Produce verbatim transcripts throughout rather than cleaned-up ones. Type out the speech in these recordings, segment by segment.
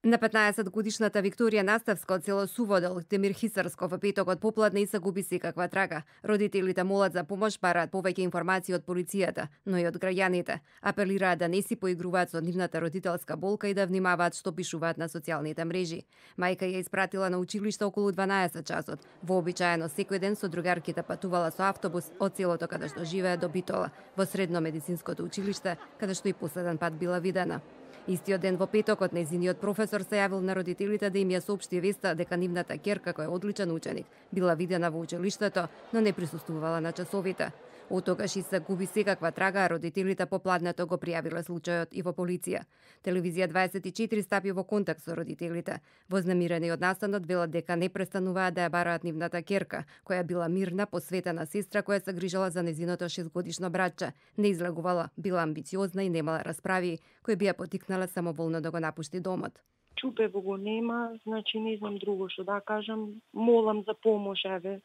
На петнаесет годишната Викторија Наставска од село Суводол, Демир Хисарско, во петокот попладне и се губи секаква трага. Родителите молат за помош, бараат повеќе информации од полицијата, но и од граѓаните. Апелираат да не си поигруваат со нивната родителска болка и да внимаваат што пишуваат на социјалните мрежи. Мајка ја испратила на училиште околу дванаесет часот. Вообичаено секој ден со другарките патувала со автобус од селото каде што живее до Битола, во средно медицинското училиште, каде што и последен пат била видена. Истиот ден во петокот нејзиниот професор се јавил на родителите да им ја соопшти веста дека нивната ќерка, која е одличен ученик, била видена во училиштето, но не присуствувала на часовите. Од тогаш и се губи секаква трага, а родителите попладнето го пријавиле случајот и во полиција. Телевизија дваесет и четири стапи во контакт со родителите. Вознемирени од настанот велат дека не престануваат да ја бараат нивната ќерка, која била мирна, посветена сестра која се грижала за незиното шестгодишно братче. Не излегувала, била амбициозна и немала расправи, кои би ја потикнале самоволно да го напушти домот. Чупево го нема, значи не знам друго што да кажам, молам за помош, еве.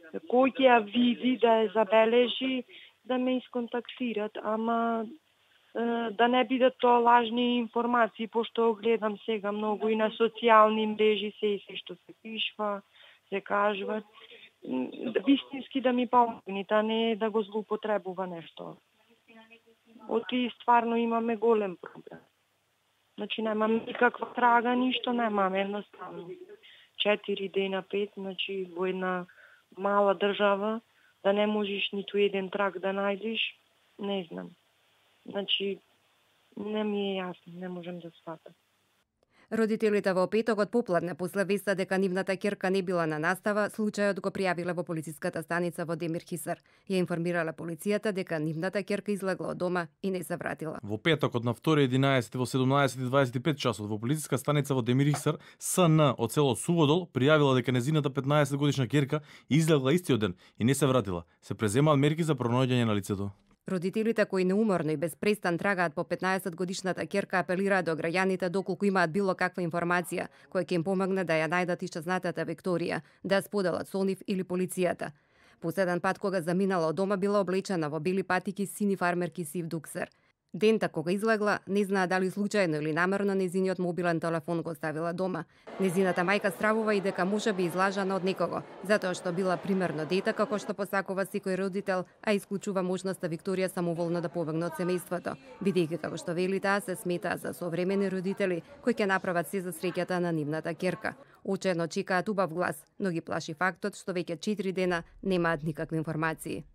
Кој ќе ја види, да ја забележи, да ме исконтактират, ама е, да не бидат тоа лажни информации, пошто гледам сега многу и на социјални мрежи се и се што се пишва, се кажува. Вистински да ми помогнете, а не да го злоупотребува нешто. Оти стварно имаме голем проблем. Значи немам никаква трага, ништо немаме, едноставно. Четири дена, пет, значи во една мала држава, да не можеш ниту еден трак да најдеш, не знам. Значи, не ми е јасно, не можем да сватам. Родителите во петокот попладне после веста дека нивната ќерка не била на настава, случајот го пријавиле во полициската станица во Демир Хисар. Ја информирале полицијата дека нивната ќерка излегла од дома и не се вратила. Во петокот на втори единаесети во седумнаесет и дваесет и пет часот во полициска станица во Демир Хисар, СН од село Суводол пријавила дека незината петнаесет годишна ќерка излегла истиот ден и не се вратила. Се преземаат мерки за пронаоѓање на лицето. Родителите кои неуморно и без престан трагаат по петнаесет годишната ќерка апелираат до граѓаните доколку имаат било каква информација која ќе им помогне да ја најдат исчезнатата Викторија, да ја споделат со нив или полицијата. Последен пат кога заминала од дома била облечена во бели патики, сини фармерки, сив дуксер. Дента кога излегла, не знаа дали случајно или намерно незиниот мобилен телефон го оставила дома. Незината мајка стравува и дека може би излажана од некого, затоа што била примерно дете како што посакува секој родител, а исклучува можноста Викторија самоволно да побегне од семејството, бидејќи како што вели таа се смета за современи родители кои ќе направат се за среќата на нивната ќерка. Очено чекаат убав глас, но ги плаши фактот што веќе четири дена немаат никакви информации.